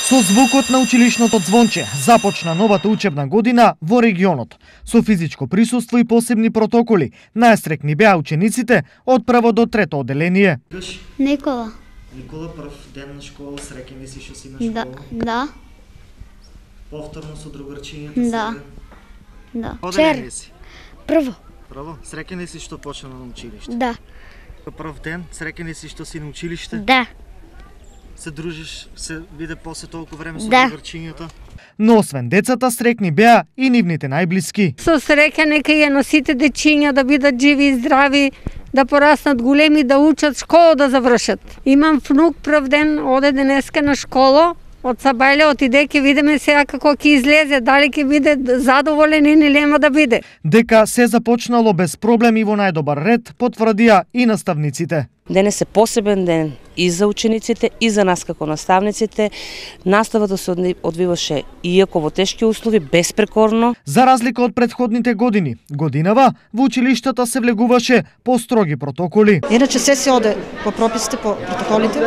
Со звукот на училишното звонче започна новата учебна година во регионот. Со физичко присуство и посебни протоколи, најстрекни беа учениците од прво до трето одделение. Никола. Никола, прв ден на школа, среќен ли си што си на школа? Да. Повторно со другарчињата? Да. Одделение си? Прво. Прво? Среќен ли си што почна на училиште? Да. Прв ден, среќен ли си што си на училиште? Да. Се дружиш, се виде после толку време со Да. другарчињата? Но освен децата, срекни беа и нивните најблиски. Со среќа нека ја носите дечиња да бидат живи и здрави, да пораснат големи, да учат, школа да завршат. Имам внук, прв ден оде денеска на школа, од Сабајле отиде, ќе видиме сега како ќе излезе, дали ќе биде задоволен или нема да биде. Дека се започнало без проблем и во најдобар ред, потврдија и наставниците. Денес е посебен ден и за учениците, и за нас како наставниците. Наставата се одвиваше иако во тешки услови, безпрекорно. За разлика од претходните години, годинава во училиштата се влегуваше по строги протоколи. Иначе се оде по прописите, по протоколите,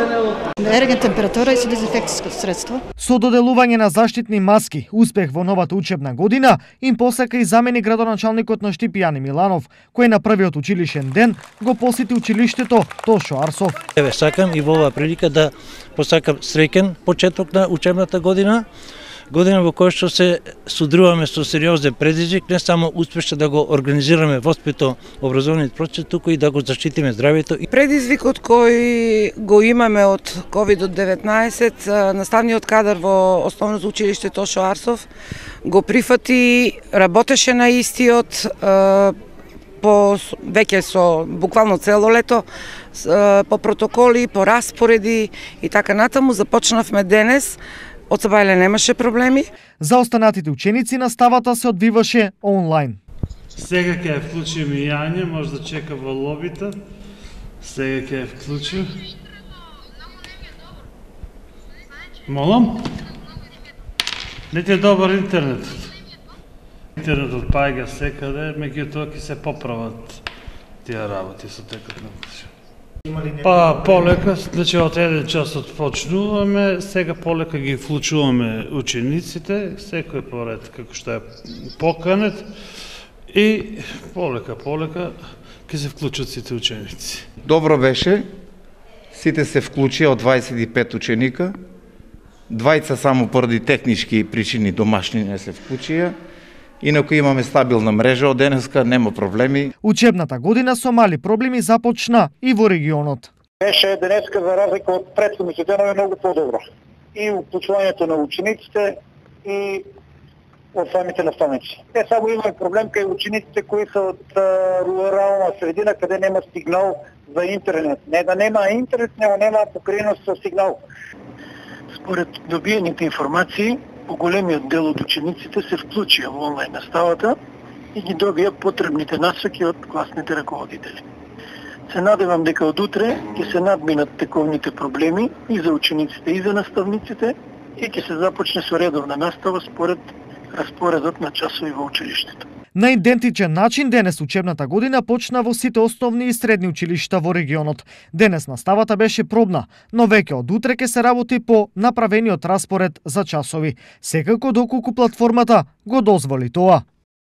ерген температура и со дезинфекцијско средство. Со доделување на заштитни маски, успех во новата учебна година им посака и замени градоначалникот на Штип Јани Миланов, кој на првиот училишен ден го посети училиштето Тошо Арсов. Еве сакам и во оваа прилика да посакам среќен почеток на учебната година, година во која што се судруваме со сериозен предизвик, не само успешно да го организираме воспито образовниот процес, туку и да го заштитиме здравјето. Предизвикот кој го имаме од COVID-19, наставниот кадар во Основното училиште Тошо Арсов го прифати, работеше на истиот, веќе со буквално цело лето, по протоколи, по распореди и така натаму. Започнавме денес, од Сабајле немаше проблеми. За останатите ученици наставата се одвиваше онлайн. Сега ќе ја вклучим и Јање, може да чека во лобита. Сега ќе ја вклучим. Молам? Не ти е добар интернетот. Интернетот паѓа секаде, меѓутоа ќе се поправат тие работи со текот на година. Па полека, значи од еден час почнуваме, сега полека ги вклучуваме учениците, секој поред како што е поканет и полека ќе се вклучат сите ученици. Добро беше, сите се вклучија од 25 ученика, двајца само поради технички причини домашни не се вклучија. Инаку имаме стабилна мрежа од денеска, нема проблеми. Учебната година со мали проблеми започна и во регионот. Беше денеска за разлика од претходните денови многу подобро. И уклучувањето на учениците и од самите наставници. Не само имаме проблем кај учениците кои се од рурална средина каде нема сигнал за интернет. Не да нема интернет, него нема покриеност со сигнал. Според добиените информации, поголемиот дел од учениците се вклучија во онлайн наставата и ги добија потребните насоки од класните раководители. Се надевам дека од утре ќе се надминат тековните проблеми и за учениците и за наставниците и ќе се започне со редовна настава според распоредот на часови во училиштето. На идентичен начин денес учебната година почна во сите основни и средни училишта во регионот. Денес наставата беше пробна, но веќе од утре ќе се работи по направениот распоред за часови. Секако доколку платформата го дозволи тоа.